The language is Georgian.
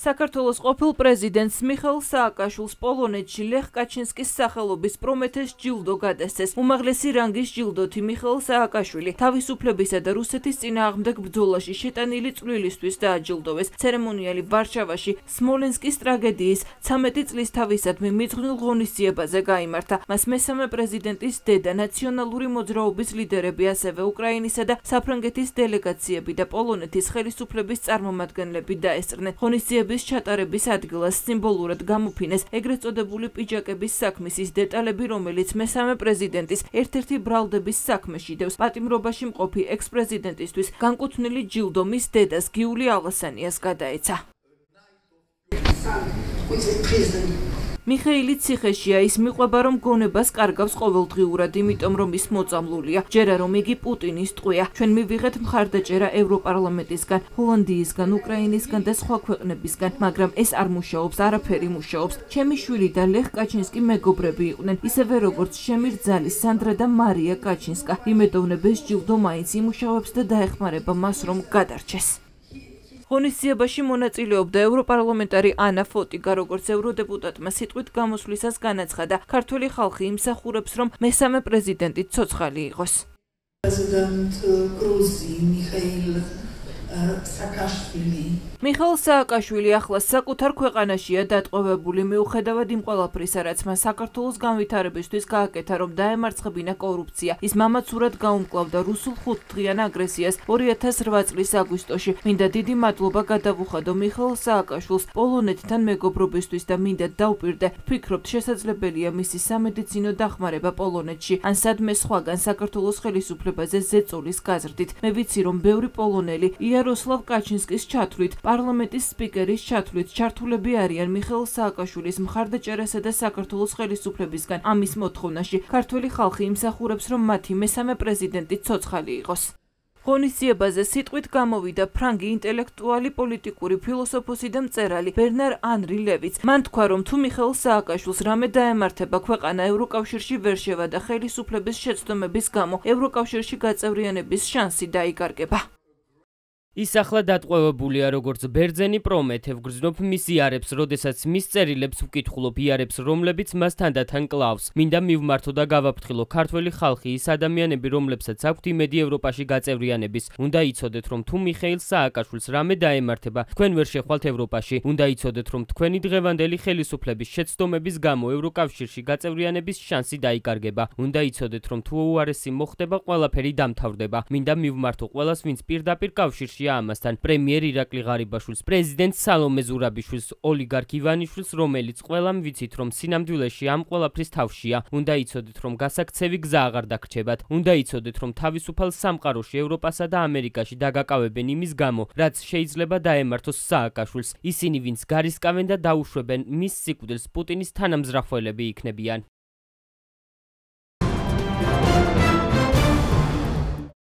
საქართველოს ყოფილ პრეზიდენტს მიხეილ სააკაშვილს პოლონეთში ლეხ კაჩინსკის სახელობის პრომეთეს ჯილდო გადასცეს. უმაღლესი რანგის ჯილდოთი მიხეილ სააკაშვილი თავისუფლებისა და რუსეთის წინააღმდეგ ბრძოლაში შეტანილი წვლილისთვის დააჯილდოვეს. ცერემონიალი ვარშავაში სმოლენსკის ტრაგედიის 13 წლისთავისადმი მიძღვნილ ღონისძიებაზე გაიმართა. მას მესამე პრეზიდენტის დედა, ნაციონალური მოძრაობის ლიდერები, ასევე უკრაინისა და საფრანგეთის დელეგაციები და პოლონეთის ხელისუფლების წარმომადგენლები დაესწრნენ. ღონისძიების ჩატარების ადგილას სიმბოლურად გამოფინეს ეგრეთ წოდებული პიჯაკების საქმის დეტალები, რომელიც მესამე პრეზიდენტის ერთ-ერთი ბრალდების საქმეში დევს. პატიმრობაში მყოფი ექს-პრეზიდენტისთვის განკუთვნილი ჯილდო მის დედას გიული ალასანიას გადაეცა. მიხეილი ციხეშია, ის მიყვება, რომ გონებას კარგავს ყოველდღიურად, იმიტომ რომ ის მოწამლულია. ჯერა რომ იგი პუტინის ტყვია. ჩვენ მივიღეთ მხარდაჭერა ევროპარლამენტისგან, ჰოლანდიისგან, უკრაინისგან და სხვა ქვეყნებისგან, მაგრამ ეს არ მუშაობს, არაფერი მუშაობს. ჩემი შვილი და ლეხ კაჩინსკი მეგობრები იყვნენ, ისევე როგორც ჩემი რძალი სანდრა და მარია კაჩინსკა. იმედოვნებ ეს ჯილდო მაინც იმუშავებს და დაეხმარება მას, რომ გადარჩეს. ღონისძიებაში მონაწილეობდა ევროპარლამენტარი ანა ფოტიგა, როგორც ევროდეპუტატმა სიტყვით გამოსვლისას განაცხადა, ქართველი ხალხი იმსახურებს, რომ მესამე პრეზიდენტი ცოცხალი იყოს. მიხეილ სააკაშვილი ახლა საკუთარ ქვეყანაშია დატყვევებული, მიუხედავად იმ ყველაფრისა, რაც მას საქართველოს განვითარებისთვის გააკეთა, რომ დაემარცხებინა კორუფცია. ის მამაცურად გაუმკლავდა რუსულ 5-დღიან აგრესიას 2008 წლის აგვისტოში. მინდა დიდი მადლობა გადავუხადო მიხეილ სააკაშვილს პოლონეთთან მეგობრობისთვის და მინდა დავპირდე, ვფიქრობთ, შესაძლებელია მისი სამედიცინო დახმარება პოლონეთში, ან სადმე სხვაგან საქართველოს ხელისუფლებაზე ზეწოლის გაზრდით. მე ვიცი, რომ ბევრი პოლონელი იაროსლავ კაჩინსკის ჩათვლით, პარლამენტის სპიკერის ჩათვლით ჩართულები არიან მიხეილ სააკაშვილის მხარდაჭერასა და საქართველოს ხელისუფლებისგან ამის მოთხოვნაში. ქართველი ხალხი იმსახურებს, რომ მათი მესამე პრეზიდენტი ცოცხალი იყოს. ღონისძიებაზე სიტყვით გამოვიდა ფრანგი ინტელექტუალი, პოლიტიკური ფილოსოფოსი და მწერალი ბერნარ ანრი ლევიც. მან თქვა, რომ თუ მიხეილ სააკაშვილს რამე დაემართება, ქვეყანა ევროკავშირში ვერ შევა და ხელისუფლების შეცდომების გამო ევროკავშირში გაწევრიანების შანსი დაიკარგება. ის ახლა დატყვევებულია როგორც ბერძენი პრომეთე, ვგრძნობ მის იარებს, როდესაც მის წერილებს ვკითხულობ, იარებს, რომლებიც მას თანდათან კლავს. მინდა მივმართო და გავაფრთხილო ქართველი ხალხი, ის ადამიანები, რომლებსაც აქვთ იმედი ევროპაში გაწევრიანების. უნდა იცოდეთ, რომ თუ მიხეილ სააკაშვილს რამე დაემართება, თქვენ ვერ შეხვალთ ევროპაში. უნდა იცოდეთ, რომ თქვენი დღევანდელი ხელისუფლების შეცდომების გამო ევროკავშირში გაწევრიანების შანსი დაიკარგება. უნდა იცოდეთ, რომ თუ უარესი მოხდება, ყველაფერი დამთავრდება. მინდა მივმართო ყველას, ვინც პირდაპირ კავშირში ამასთან, პრემიერ ირაკლი ღარიბაშვილს, პრეზიდენტ სალომე ზურაბიშვილს, ოლიგარქ ივანიშვილს, რომელიც ყველამ ვიცით, რომ სინამდვილეში ამ ყველაფრის თავშია. უნდა იცოდეთ, რომ გასაქცევი გზა აღარ დაგრჩებათ. უნდა იცოდეთ, რომ თავისუფალ სამყაროში ევროპასა და ამერიკაში დაგაკავებენ იმის გამო, რაც შეიძლება დაემართოს სააკაშვილს. ისინი, ვინც გარისკავენ და დაუშვებენ მის სიკვდილს, პუტინის თანამზრახველები იქნებიან.